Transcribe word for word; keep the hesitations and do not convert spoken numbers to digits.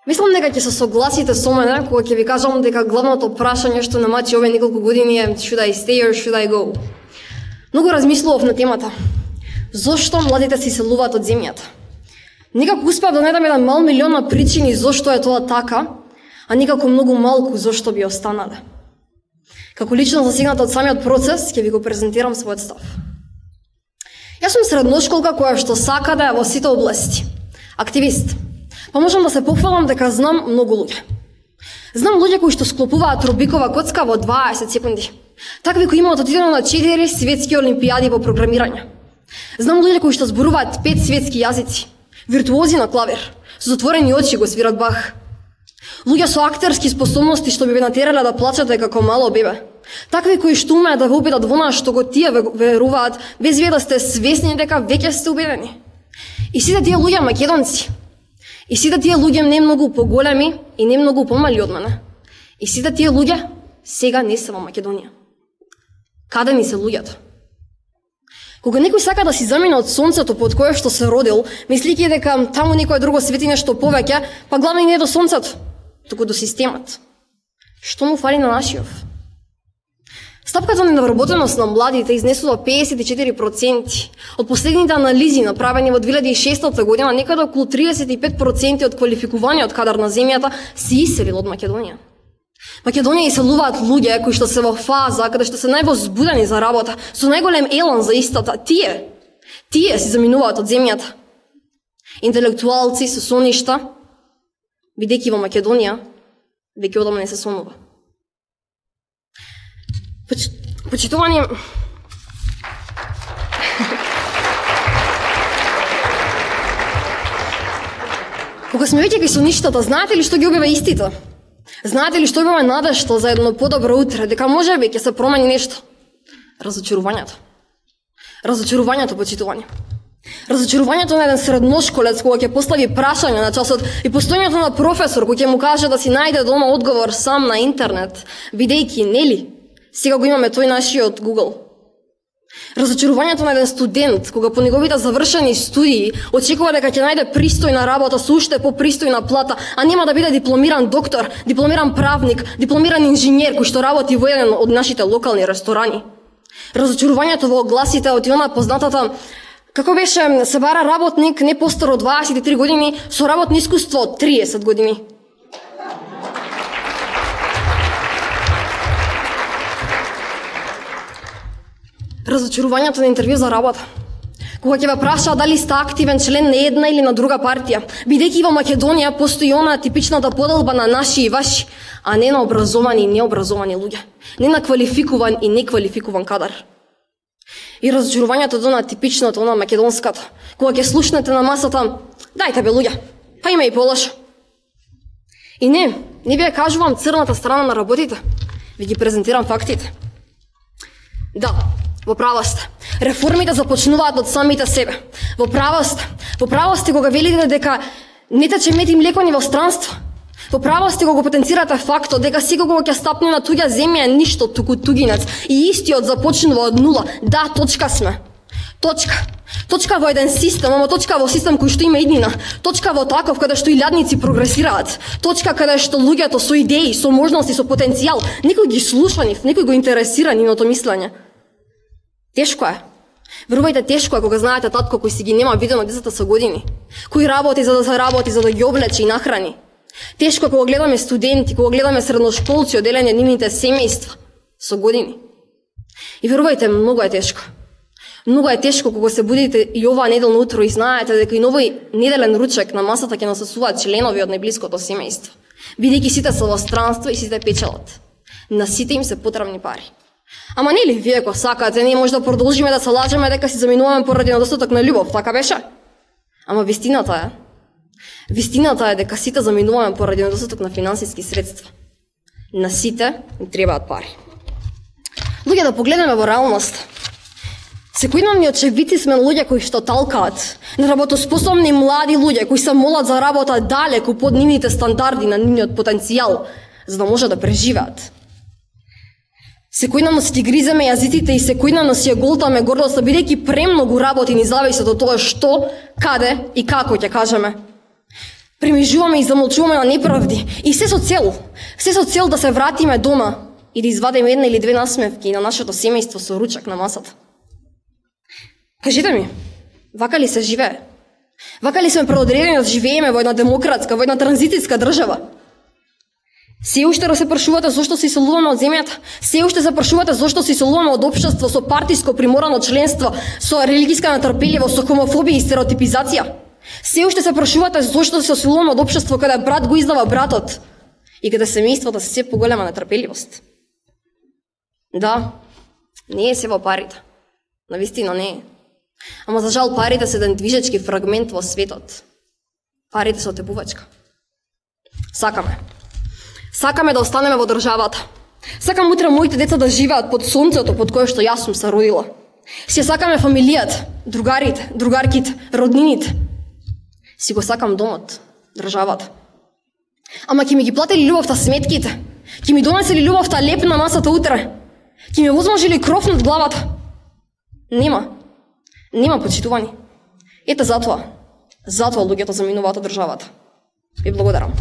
Мислам дека ќе се согласите со мене кога ќе ви кажам дека главното прашање што на мачи овие неколку години е should I stay or should I go? Многу размислував на темата. Зошто младите се иселуваат од земјата? Некако успеав да најдам еден мал милион на причини зошто е тоа така, а некако многу малку зошто би останале. Како лично засегната од самиот процес, ќе ви го презентирам својот став. Јас сум средношколка која што сака да е во сите области. Активист. Па можам да се похвалам дека знам многу луѓе. Знам луѓе кои што склопуваат Рубикова коцка во дваесет секунди. Такви кои имаат одидено на четири светски олимпијади по програмирање. Знам луѓе кои што зборуваат пет светски јазици. Виртуози на клавир. Со затворени очи го свират Бах. Луѓе со актерски способности што би ве натерале да плачете како мало бебе. Такви кои што умеат да ве убедат во она што го тие веруваат, без вие да сте свесни дека веќе сте убедени. И сите тие луѓе македонци. И сите тие луѓе не многу поголеми и не многу помали од мене. И сите тие луѓе сега не се во Македонија. Каде ни се луѓето? Кога некој сака да си замине од сонцето под кое што се родил, мислики дека таму некое друго свети нешто повеќе, па главно не е до сонцето, туку до системот. Што му фали на нашиот? Стапката на невработеност на младите изнесува педесет и четири проценти. Од последните анализи направени во две илјади и шеснаесета година, некаде околу триесет и пет проценти од квалификуваниот кадар на земјата се иселил од Македонија. Македонија иселуваат луѓе кои што се во фаза каде што се највозбудени за работа, со најголем елан за истата. Тие, тие се заминуваат од земјата. Интелектуалци со соништа, бидејќи во Македонија веќе одамна не се сонува. Поч... Почитувани... Кога сме веќе кај соништата, знаете ли што ги објава истите? Знаете ли што имаме надежда за едно подобро утре, дека можеби ќе се промени нешто? Разочарувањето. Разочарувањето, почитувани. Разочарувањето на еден средношколец кога ќе постави прашање на часот и постојањето на професор кој ќе му каже да си најде дома одговор сам на интернет, бидејќи нели сега го имаме тој нашиот Google. Разочарувањето на еден студент кога по неговите завршени студии очекува дека ќе најде пристојна работа со уште попристојна плата, а нема да биде дипломиран доктор, дипломиран правник, дипломиран инженер кој што работи во еден од нашите локални ресторани. Разочарувањето во огласите од она познатата како беше се бара работник не постар од дваесет и три години со работно искуство од триесет години. Разочарувањето на интервју за работа. Кога ќе ве прашаат дали сте активен член на една или на друга партија, бидејќи во Македонија постои она типичната поделба на наши и ваши, а не на образовани и необразовани луѓе, не на квалификуван и неквалификуван кадар. И разочарувањето до на типичното, она македонската, кога ќе слушнете на масата, дајте бе луѓе, па има и полошо. И не, не ви ја кажувам црната страна на работите, ви ги презентирам фактите. Да, во право сте. Реформите започнуваат од самите себе. Во право сте. Во право сте кога велите дека не тече мед и млеко ни во странство. Во право сте кога потенцирате фактот дека секој кога ќе стапне на туѓа земја е ништо, туку тугинец. И истиот започнува од нула. Да, точка сме. Точка. Точка во еден систем, ама точка во систем кој што има иднина. Точка во таков каде што илјадници прогресираат. Точка каде што луѓето со идеи, со можности, со потенцијал, некој ги слуша нив, некој го интересира нивното мислење. Тешко е. Верувајте, тешко е кога знаете татко кој си ги нема видено децата со години, кој работи за да се работи, за да ги облече и нахрани. Тешко е кога гледаме студенти, кога гледаме средношколци оделени од нивните семејства со години. И верувајте, многу е тешко. Многу е тешко кога се будите и оваа неделно утро и знаете дека и новој неделен ручек на масата ќе насосуваат членови од најблиското семејство, бидејќи сите се во странство и сите печелат. На сите им се потребни пари. Ама нели вие ако сакате, ние може да продолжиме да се лажеме дека си заминуваме поради недостаток на љубов, така беше? Ама вистината е, вистината е дека сите заминуваме поради недостаток на финансиски средства. На сите им требаат пари. Луѓе, да погледнеме во реалност. Секојдневни очевидци сме луѓе кои што талкаат, неработоспособни млади луѓе кои се молат за работа далеку под нивните стандарди на нивниот потенцијал, за да може да преживеат. Секојдневно си ги гриземе јазиците и секојдневно си ја голтаме гордоста, бидејќи премногу работи ни зависат од тоа што, каде и како ќе кажеме. Премежуваме и замолчуваме на неправди. И се со цел, се со цел да се вратиме дома и да извадиме една или две насмевки на нашето семејство со ручак на масата. Кажете ми, вака ли се живее? Вака ли сме преодредени да живееме во една демократска, во една транзицијска држава? Се уште да се прашувате зошто се иселуваме од земјата? Се уште се прашувате зошто се иселуваме од општество со партиско приморано членство, со религиска нетрпеливост, со хомофобија и стереотипизација? Се уште се прашувате зошто се иселуваме од општество каде брат го издава братот и каде семејствата се се поголема нетрпеливост? Да, не е се во парите. Навистина не е. Ама за жал парите се еден движечки фрагмент во светот. Парите се отепувачка. Сакаме. Сакаме да останеме во државата. Сакам утре моите деца да живеат под сонцето под кое што јас сум се родила. Си сакаме фамилијата, другарите, другарките, роднините. Си го сакам домот, државата. Ама ќе ми ги платили љубовта сметките? Ќе ми донесели љубовта леп на масата утре? Ќе ми возможили кров над главата? Нема. Нема, почитувани. Ете затоа. Затоа луѓето заминуваат од државата. Ви благодарам.